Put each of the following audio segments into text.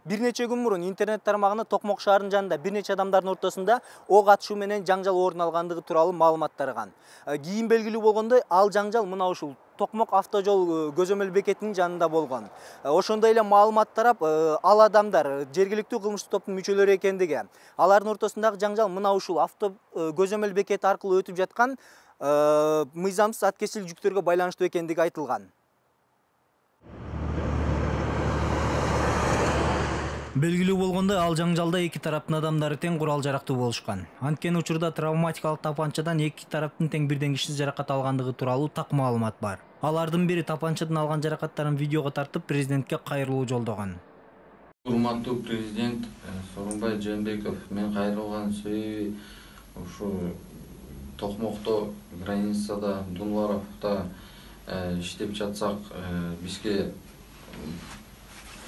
Бир нече күн мурун интернет тармагында Токмок шаарынын жанында бир нече адамдардын ортосунда ок атышуу менен жаңжал орун алгандыгы тууралуу маалымат тараган. Кийин белгилүү болгондой, ал жаңжал мына ушул Токмок автожол көзөмөл бекетинин жанында болгон. Ошондой эле маалымат тарап, ал адамдар жергиликтүү кылмыштык топтун мүчөлөрү экендиги, алардын ортосундагы жаңжал мына ушул көзөмөл бекети аркылуу өтүп жаткан мыйзамсыз аткезчил жүктөргө байланыштуу экендиги айтылган. Белгилүү болгондой, ал жаңжалда эки тараптын адамдары тең курал-жарактуу болушкан. Анткени учурда травматикалык тапанчадан эки тараптын тең бирденгичсиз жаракат алгандыгы тууралуу так маалымат бар. Алардын бири тапанчадан алган жаракаттарын видеого тартып, президентке кайрылуу жолдогон. Урматтуу президент Сооронбай Жээнбеков, мен кайрылган себеби ушу Токмокто, границада, Дунваровдо иштеп жатсак, бизге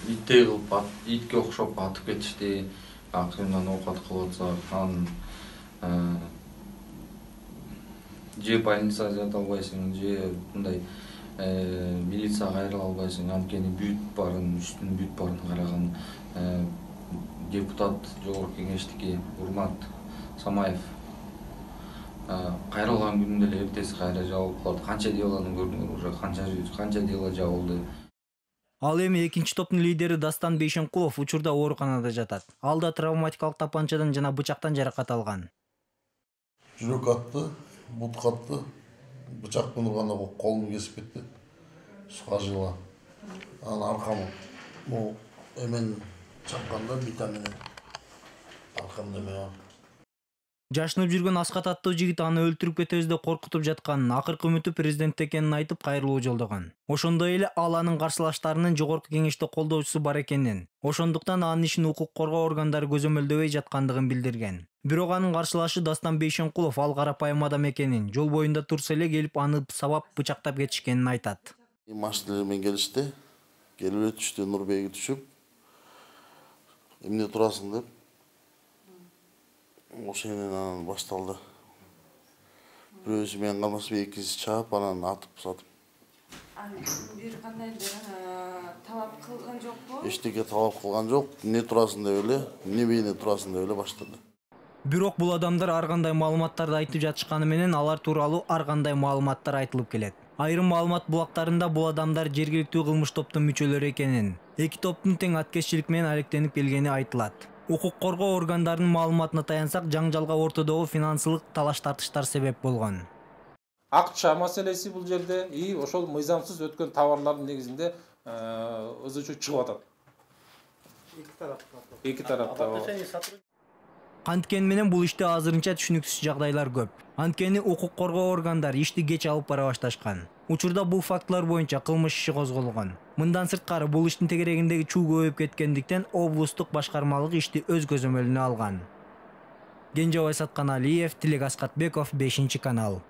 иттей кылып, итке окшоп атып кетишти, акырындан оокат кылып атсак, анан же больницага жата албайсың, же мындай милицияга кайрыла албайсың, анткени бүт баарын, үстүнүн бүт баарын караган депутат Жогорку Кеңештики Урмат Самаев кайрылган күнүндө эле эртеси кайра жабылып калат. Канча делону көрдүңөр, уже канча дело жабылды. Ал эми экинчи топтун лидери Дастан Бейшенкулов учурда ооруканада жатат. Ал да травматикалык тапанчадан жана бычактан жаракат алган. Жүрөк атты, бут катты, бычак менен урганда колум кесип кетти. Скажила. Анан аркам бул эмен чакканда бита менен аркамда эме. Жашынып жүргөн Аскат аттуу жигит аны өлтүрүп кетебиз деп коркутуп жатканын, акыркы үмүтү президент экенин айтып кайрылуу жолдогон. Ошондой эле ал анын каршылаштарынын Жогорку Кеңеште колдоочусу бар экенин, ошондуктан анын ишин укук коргоо органдары көзөмөлдөбөй жаткандыгын билдирген. Бирок анын каршылашы Дастан Бейшенкулов ал карапайым адам экенин, жол боюнда турса эле келип аны сабап бычактап кетишкенин айтат. Машина менен келишти, келип өтүштү, Нурбеги түшүп, эмне турасың деп. Ошенен анан башталды. Бирөөсү менен калмаспай экинчиси чаап, анан атып сатып. Бир кандайдыр талап кылган жокпу? Эчтеке талап кылган жок. Эмне турасың деп эле, эмне бейне турасың деп эле баштады. Бирок бул адамдар ар кандай маалыматтарды айтып жатышканы менен алар тууралуу ар кандай маалыматтар айтылып келет. Айрым маалымат булактарында бул адамдар жергиликтүү кылмыш топтун мүчөлөрү экенин, эки топтун тең аткезчилик менен алектенип келгени айтылат. Укук коргоо органдарынын маалыматына таянсак, жаңжалга ортодогу финансылык талаш-тартыштар себеп болгон. Акча маселеси бул жерде и ошол мыйзамсыз өткөн товарлардын негизинде ызы-чуу чыгып атат. Эки тарапта. Анткени менен бул иште азырынча түшүнүксүз жагдайлар көп. Анткени укук коргоо органдары ишти кеч алып бара башташкан. Учурда бул фактылар боюнча кылмыш иши козголгон. Мындан сырткары бул иштин тегерегиндеги чуу көбөйүп кеткендиктен облустук башкармалык ишти өз көзөмөлүнө алган. Кенжебай Сатканалиев, Тилек Аскатбеков, 5 канал.